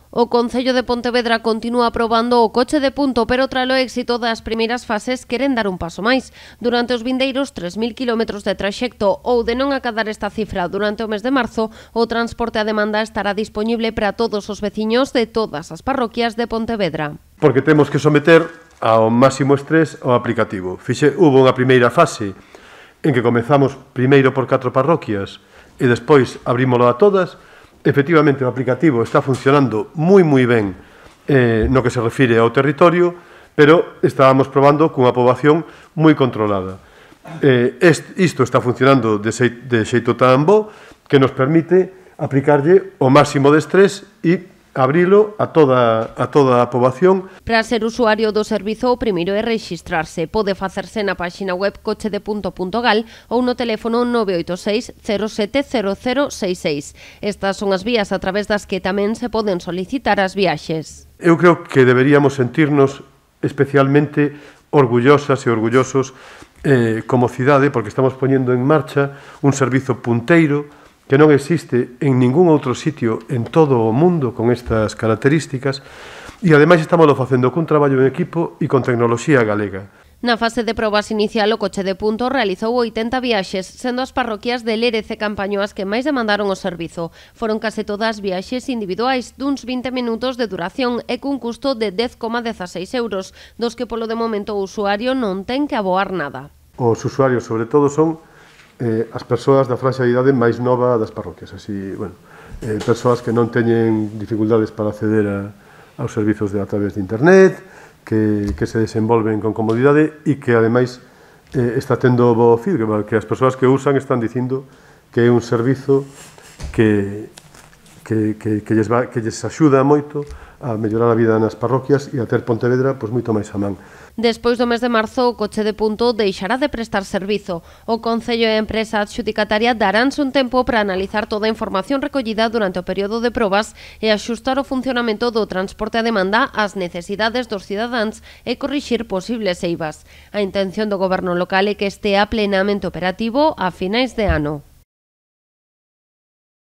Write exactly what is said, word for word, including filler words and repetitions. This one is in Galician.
O Concello de Pontevedra continúa aprobando o coche de punto, pero tralo éxito das primeiras fases queren dar un paso máis. Durante os vindeiros tres mil kilómetros de traxecto ou de non acadar esta cifra durante o mes de marzo, o transporte a demanda estará disponible para todos os veciños de todas as parroquias de Pontevedra. Porque temos que someter ao máximo estrés ao aplicativo. Fixe, hubo unha primeira fase en que comezamos primeiro por catro parroquias e despois abrímolo a todas. Efectivamente, o aplicativo está funcionando moi moi ben eh, no que se refire ao territorio, pero estábamos probando cunha poboación moi controlada. Eh, est, isto está funcionando de, xei, de xeito tan bo que nos permite aplicarlle o máximo de estrés e abrilo a toda, a toda a poboación. Para ser usuario do servizo, o primeiro é rexistrarse. Pode facerse na páxina web coche de punto punto gal ou no teléfono nove oito seis cero sete cero cero seis seis. Estas son as vías a través das que tamén se poden solicitar as viaxes. Eu creo que deberíamos sentirnos especialmente orgullosas e orgullosos eh, como cidade, porque estamos poñendo en marcha un servizo punteiro que non existe en ningún outro sitio en todo o mundo con estas características e ademais estamos facendo cun traballo en equipo e con tecnoloxía galega. Na fase de probas inicial, o coche de punto realizou oitenta viaxes, sendo as parroquias de Lérez e Campaño as que máis demandaron o servizo. Foron case todas viaxes individuais duns vinte minutos de duración e cun custo de dez coma dezaseis euros, dos que polo de momento o usuario non ten que aboar nada. Os usuarios, sobre todo, son Eh, as persoas da franxa de idade máis nova das parroquias, así, bueno, eh, persoas que non teñen dificultades para acceder a, aos servizos de, a través de internet, que, que se desenvolven con comodidade e que, ademais, eh, está tendo bo feedback, que as persoas que usan están dicindo que é un servizo que, que, que, que, lles, va, que lles axuda moito a mellorar a vida nas parroquias e a ter Pontevedra pois, moito máis a man. Despois do mes de marzo, o coche de punto deixará de prestar servizo. O Concello e a empresa adxudicataria daránse un tempo para analizar toda a información recollida durante o período de probas e axustar o funcionamento do transporte a demanda ás necesidades dos cidadáns e corrixir posibles eivas. A intención do goberno local é que estea plenamente operativo a finais de ano.